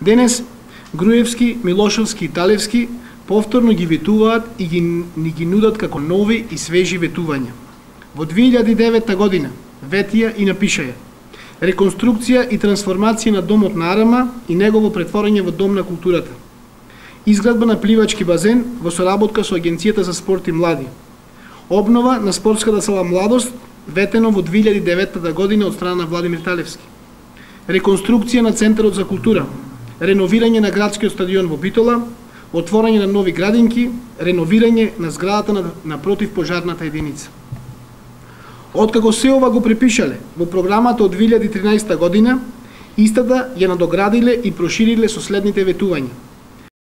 Денес Груевски, Милошевски и Талевски повторно ги ветуваат и ни ги нудат како нови и свежи ветувања. Во 2009 година ветија и напишаја реконструкција и трансформација на домот на Арама и негово претворање во дом на културата. Изградба на пливачки базен во соработка со Агенцијата за спорт и млади. Обнова на спортската сала Младост, ветено во 2009 година од страна на Владимир Талевски. Реконструкција на Центарот за култура, реновирање на градскиот стадион во Битола, отворање на нови градинки, реновирање на зградата на противпожарната единица. Откако се ова го препишале во програмата од 2013 година, истата ја надоградиле и прошириле со следните ветувања.